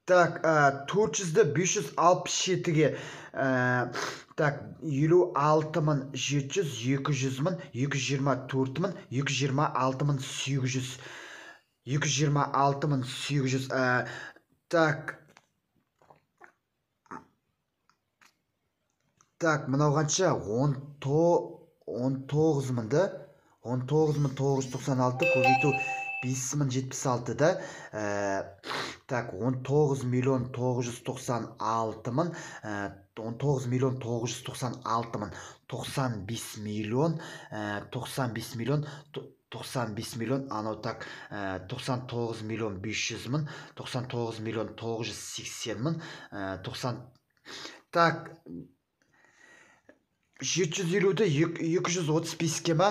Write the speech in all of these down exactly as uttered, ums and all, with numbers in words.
Так, төрт жүзді бес жүз алпыс жетіге, так, елу алты мың жеті жүз, екі жүз мың, екі жүз жиырма төрт мың, екі жүз жиырма алты мың сегіз жүз, екі жүз жиырма алты мың сегіз жүз, так, так, мынау қанша? он тоғыз мыңды, он тоғыз мың тоғыз жүз тоқсан алты көбейту бес мың жетпіс алтыда, так, он тоғыз миллион тоғыз жүз тоқсан алты мың, он тоғыз миллион тоғыз жүз тоқсан алты мың, тоқсан бес миллион, тоқсан бес миллион, тоқсан бес миллион, анау так, тоқсан тоғыз миллион бес жүз мың, тоқсан тоғыз миллион тоғыз жүз сексен мың, тоқсан, так, жеті жүз елуді екі жүз отыз беске ма,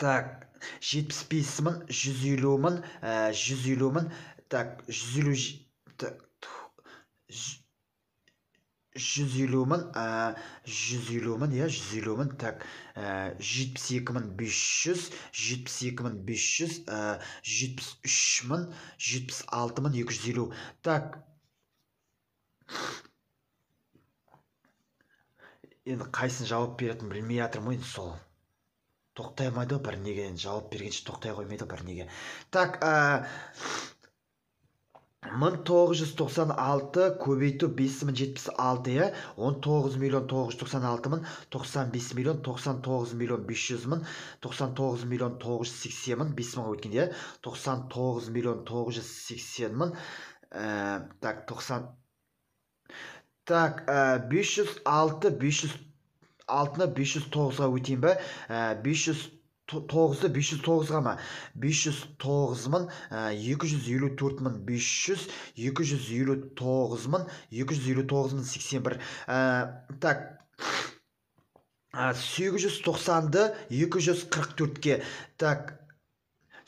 так, жетпіс бес мың, жүз елу мың, жүз елу мың, так, жүз елу, жүз елу мың, жүз елу мың, я, жүз елу мың, так, жетпіс екі мың бес жүз, жетпіс екі мың бес жүз, жетпіс үш мың, жетпіс алты мың екі жүз елу, так, енді қайсын жауап беретін білмей жатырмын ғой, сол тоқтай алмайды ғой, бір неге жауап бергенше тоқтай қоймайды бір неге. Так, мың тоғыз жүз тоқсан алты көбейту бес мың жетпіс алты, он тоғыз миллион тоғыз жүз тоқсан алты мың, тоқсан бес миллион, тоқсан тоғыз миллион бес жүз мың, тоқсан тоғыз миллион тоғыз жүз сексен мың, бес мыңға өткенде, тоқсан тоғыз миллион тоғыз жүз сексен мың, так, тоқсан, так, бес жүз алты, бес жүз алтыны бес жүз тоғызға өтейін бі, бес жүз тоғызды бес жүз тоғызға ма, бес жүз тоғыз мың, екі жүз елу төрт мың бес жүз, екі жүз елу тоғыз мың, екі жүз елу тоғыз мың сексен бір, так, сегіз жүз тоқсанды екі жүз қырық төртке, так,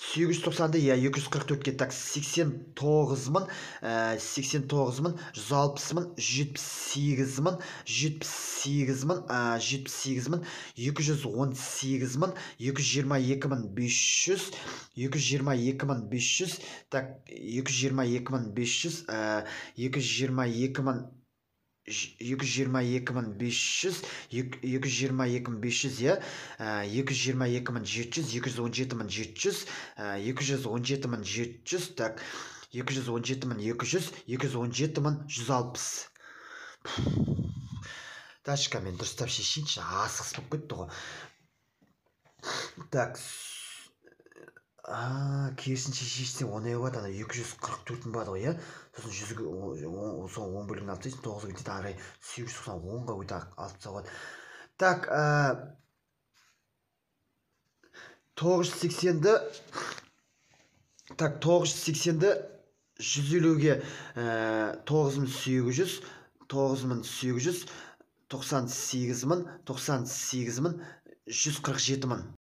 сегіз жүз тоқсанды, я, екі жүз қырық төртке, так, сексен тоғыз мың, сексен тоғыз мың, жүз алпыс мың, жетпіс сегіз мың, жетпіс сегіз мың, жетпіс сегіз мың, екі жүз он сегіз мың, екі жүз жиырма екі мың бес жүз, екі жүз жиырма екі мың бес жүз, так, екі жүз жиырма екі мың бес жүз, екі жүз жиырма екі мың, екі жүз жиырма екі мың бес жүз, екі жүз жиырма екі мың бес жүз, я, екі жүз жиырма екі мың жеті жүз, екі жүз он жеті мың жеті жүз, екі жүз он жеті мың жеті жүз, так, екі жүз он жеті мың екі жүз, екі жүз он жеті мың жүз алпыс. Дашка, мен дұрыстап шешейінші, асығыс болып кетті ғой. Так, керісінше шешсең оңай болады, ана екі жүз қырық төрт мың болады ғой, я, сосын жүзге сол он бөлігін алып тастайсың, тоғызға кетеді, ары сегіз жүз тоқсан онға өте алып тастауға болады. Так, тоғыз жүз сексенді, так, тоғыз жүз сексенді жүз елуге тоғыз мың сегіз жүз, тоғыз мың сегіз жүз, тоқсан сегіз мың, тоқсан сегіз мың, жүз қырық жеті мың.